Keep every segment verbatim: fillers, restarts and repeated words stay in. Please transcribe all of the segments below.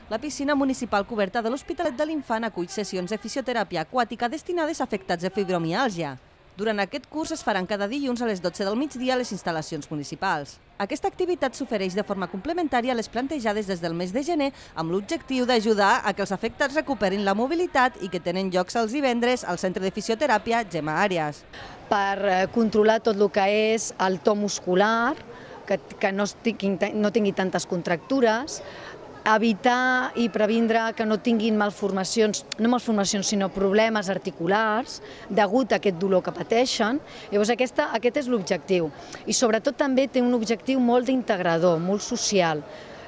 La piscina municipal coberta de l'Hospitalet de l'Infant acull sessions de fisioteràpia aquàtica destinades a afectats de fibromiàlgia. Durant aquest curs es faran cada dilluns a les dotze del migdia a les instal·lacions municipals. Aquesta activitat s'ofereix de forma complementària a les plantejades des del mes de gener amb l'objectiu d'ajudar a que els afectats recuperin la mobilitat i que tenen llocs els divendres al Centre de Fisioteràpia Gemma Àrias. Per controlar tot el que és el to muscular, que, que no, tingui, no tingui tantes contractures, evitar i previndre que no tinguin malformacions, no malformacions, sinó problemes articulars degut a aquest dolor que pateixen. Llavors aquesta, aquest és l'objectiu. I sobretot també té un objectiu molt integrador, molt social.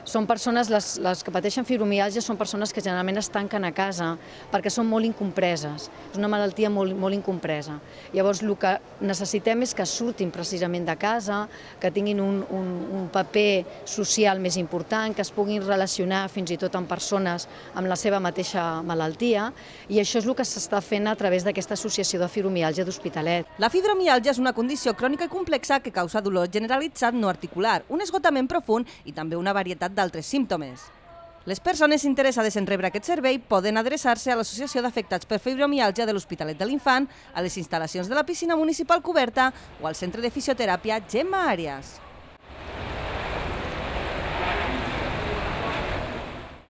Són persones, les, les que pateixen fibromiàlgia són persones que generalment es tanquen a casa perquè són molt incompreses. És una malaltia molt, molt incompresa. Llavors el que necessitem és que surtin precisament de casa, que tinguin un, un, un paper social més important, que es puguin relacionar fins i tot amb persones amb la seva mateixa malaltia, i això és el que s'està fent a través d'aquesta associació de fibromiàlgia d'Hospitalet. La fibromiàlgia és una condició crònica i complexa que causa dolor generalitzat no articular, un esgotament profund i també una varietat d'altres símptomes. Les persones interessades en rebre aquest servei poden adreçar-se a l'Associació d'Afectats per Fibromiàlgia de l'Hospitalet de l'Infant, a les instal·lacions de la piscina municipal coberta o al Centre de Fisioteràpia Gemma Àrias.